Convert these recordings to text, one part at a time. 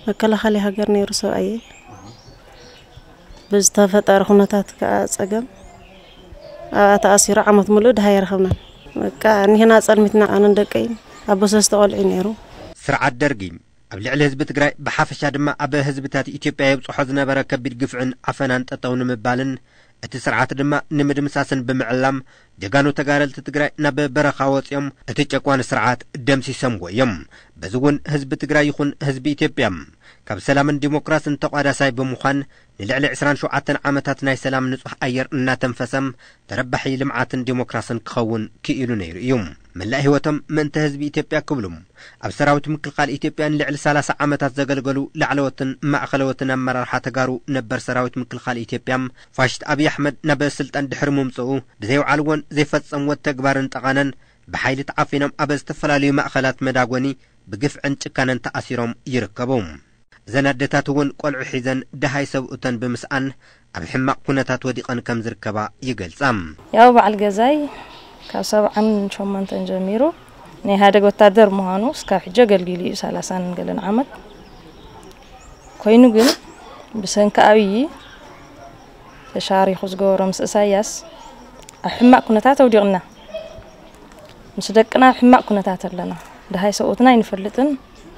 መከላኸሊ ሃገር ነይሩ ሰብኣየ። ብዝተፈጠረ ኩነታት ከዓ ጸገም ኣብኣ ተኣሲሩ ዓመት ሙሉእ ድሃ ኣይረኸብናን። በቃ እኒህና ጸልሚትና ኣነን ደቀይን ኣቦ ሰለስተ ቆልዑ ነይሩ። ስርዓት ደርጊ ኣብ ልዕሊ ህዝቢ ትግራይ ብሓፈሻ ድማ ኣብ ህዝብታት ኢትዮጵያ የብፅሖ ዝነበረ ከቢድ ግፍዕን ዓፈናን ጠጠው ንምባልን እቲ ስርዓት ድማ ንምድምሳስን ብምዕላም ጀጋኑ ተጋደልቲ ትግራይ ናብ በረኻ ወፂኦም እቲ ጨቋኒ ስርዓት ደምሲሶምዎ እዮም። በዚ እውን ህዝቢ ትግራይ ይኹን ህዝቢ ኢትዮጵያ ካብ ሰላምን ዲሞክራስን ተቋዳሳይ ብምዃን ንልዕሊ ዕስራን ሸውዓተን ዓመታት ናይ ሰላም ንፁህ ኣየር እናተንፈሰም ተረባሒ ልምዓትን ዲሞክራስን ክኸውን ክኢሉ ነይሩ እዩ። መላእ ህይወቶም ምእንተ ህዝቢ ኢትዮጵያ ክብሉ ኣብ ሰራዊት ምክልኻል ኢትዮጵያ ንልዕሊ ሰላሳ ዓመታት ዘገልገሉ ላዕለዎትን ማእኸለዎትን ኣመራርሓ ተጋሩ ነበር ሰራዊት ምክልኻል ኢትዮጵያ ፋሽስት ኣብይ ኣሕመድ ናብ ስልጣን ድሕሪ ምምፅኡ ብዘይውዓልዎን ዘይፈፀምዎ ተግባርን ጠቓነን ብሓይሊ ተዓፊኖም ኣብ ዝተፈላለዩ ማእኸላት መዳጎኒ ብግፍዕን ጭካነን ተኣሲሮም ይርከቡ። እዘን ኣደታት እውን ቆልዑ ሒዘን ደሃይ ሰብኡተን ብምስኣን ኣብ ሕማቕ ኩነታት ወዲቐን ከም ዝርከባ ይገልጻ። ያው በዓል ገዛይ ካብ ሰብዓን ሸሞንተን ጀሚሩ ናይ ኢህኣደግ ወታደር ምዃኑ እስካብ ሕጂ ኣገልጊሉ እዩ፣ ሰላሳን ገለን ዓመት ኮይኑ። ግን ብሰንኪ ኣብዪ ተሻሪኹ ዝገበሮ ምስ እሳያስ ኣብ ሕማቕ ኩነታት ኣውዲቕና። ምስ ደቅና ኣብ ሕማቕ ኩነታት ኣለና። ደሃይ ሰብኡትና ኣይንፈልጥን፣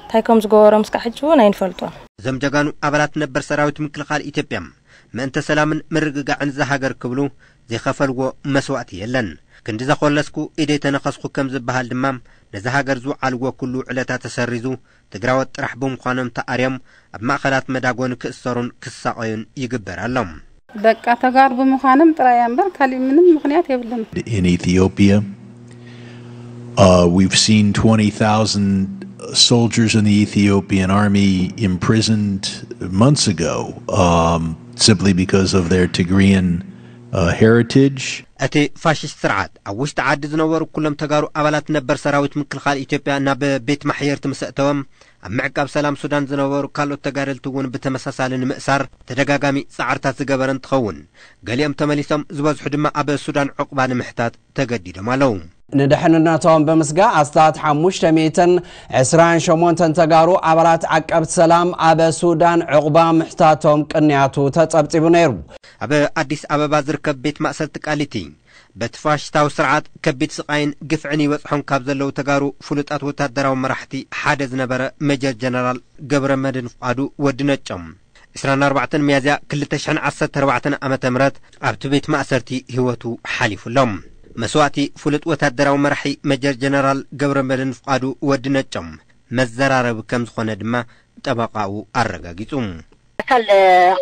እንታይ ከም ዝገበሮም እስካብ ሕጂ እውን ኣይንፈልጦን። እዞም ጀጋኑ ኣባላት ነበር ሰራዊት ምክልኻል ኢትዮጵያ ምእንተ ሰላምን ምርግጋዕን እዛ ሃገር ክብሉ ዘይኸፈልዎ መስዋእቲ የለን። ክንዲ ዘኾለስኩ ኢደይ ተነኸስኩ ከም ዝበሃል ድማ ነዛ ሃገር ዝውዓልዎ ኩሉ ውዕለታ ተሰሪዙ ትግራዎት ጥራሕ ብምዃኖም ተኣርዮም ኣብ ማእኸላት መዳጎኒ ክእሰሩን ክሳቐዩን ይግበር ኣሎ። በቃ ተጋሩ ብምዃኖም ጥራይ እያ እምበር ካሊእ ምንም ምኽንያት የብልን። In Ethiopia. Uh, we've seen twenty thousand soldiers in the Ethiopian army imprisoned months ago um, simply because of their Tigrayan uh, heritage. እቲ ፋሽስት ስርዓት ኣብ ውሽጢ ዓዲ ዝነበሩ ኩሎም ተጋሩ ኣባላት ነበር ሰራዊት ምክልኻል ኢትዮጵያ ናብ ቤት ማሕየርቲ ምስ ኣእተወም ኣብ ምዕቃብ ሰላም ሱዳን ዝነበሩ ካልኦት ተጋደልቲ እውን ብተመሳሳሊ ንምእሳር ተደጋጋሚ ፃዕርታት ዝገበረ እንትኸውን ገሊኦም ተመሊሶም ዝበዝሑ ድማ ኣብ ሱዳን ዕቑባ ንምሕታት ተገዲዶም ኣለዉ። ንድሕንነቶም ብምስጋእ ኣስታት ሓሙሽተ ሚእትን ዕስራን ሸሞንተን ተጋሩ ኣባላት ዓቀብቲ ሰላም ኣብ ሱዳን ዕቑባ ምሕታቶም ቅንያቱ ተጸብጺቡ ነይሩ። ኣብ ኣዲስ ኣበባ ዝርከብ ቤት ማእሰርቲ ቃሊቲ በቲ ፋሽስታዊ ስርዓት ከቢድ ስቓይን ግፍዕን ይበጽሖም ካብ ዘለዉ ተጋሩ ፍሉጣት ወታደራዊ መራሕቲ ሓደ ዝነበረ ሜጀር ጀነራል ገብረመድህን ፍቓዱ ወዲ ነጮም ዕስራን ኣርባዕተን ሚያዝያ ክልተ ሽሕን ዓሰርተ ኣርባዕተን ዓመተ ምህረት ኣብቲ ቤት ማእሰርቲ ህይወቱ ሓሊፉ ኣሎ። መስዋእቲ ፍሉጥ ወታደራዊ መራሒ ሜጀር ጀነራል ገብረመድህን ፍቓዱ ወዲ ነጮም መዘራረቢ ከም ዝኾነ ድማ ጠበቓኡ ኣረጋጊጹ። ኣካል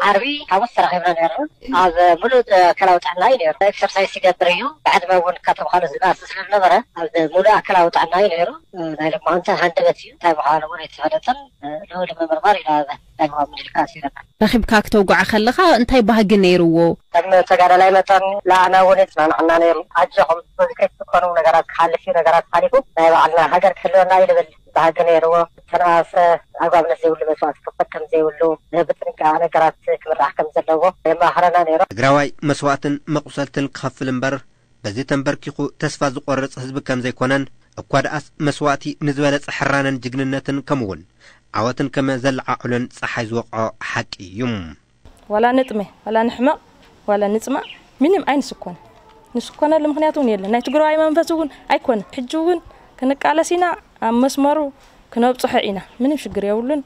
ዓርቢ ሓሙስ ተራኺብና ነርና። ኣብ ሙሉእ ኣካላዊ ጥዕና እዩ ነይሩ። ኤክሰርሳይስ ይገብር እዩ። ብዕድመ እውን ካብ ተምሃሮ ዝነኣስ ስለዝነበረ ኣብ ሙሉእ ኣካላዊ ጥዕና እዩ ነይሩ። ናይ ልምዓንተ ሃንደበት እዩ። እንታይ ምዃኑ እውን ኣይተፈለጠን። ንኡ ንምምርማር ኢና ናይ ምዃን ምልልካ ኣሲረና። ረኺብካ ክተውግዖ ከለኻ እንታይ ባህጊ ነይርዎ? ከም ተጋዳላይ መጠን ንኣና እውን የጽናንዓና ነይሩ። ኣጆኹም በዚ ከይትስከኑ ነገራት ክሓልፍ እዩ፣ ነገራት ሓሊፉ ናይ ባዕልና ሃገር ክህልወና እዩ ልብል። ባህጊ ነይርዎ። ዝተነኣሰ ኣግባብነት ዘይብሉ መስዋእቲ ክኽፈል ከም ዘይብሉ፣ ብጥንቃቐ ነገራት ክምራሕ ከም ዘለዎ የመኻኽረና ነይሩ። ትግራዋይ መስዋእትን መቑሰልትን ክኸፍል እምበር በዚ ተንበርኪኹ ተስፋ ዝቖርጽ ህዝቢ ከም ዘይኮነን እኳ ደኣስ መስዋእቲ ንዝበለጸ ሕራነን ጅግንነትን ከምኡውን ዓወትን ከም ዘለዓዕሎን ጸሓይ ዝወቕዖ ሓቂ እዩ። ዋላ ንጥመ ዋላ ንሕመቕ ዋላ ንጽማእ ምንም ኣይንስኮን። ንስኮነሉ ምኽንያት እውን የለን። ናይ ትግራዋይ መንፈስ እውን ኣይኮነን። ሕጂ እውን ክንቃለስ ኢና፣ ኣብ መስመሩ ክነብፅሖ ኢና። ምንም ሽግር የብሉን።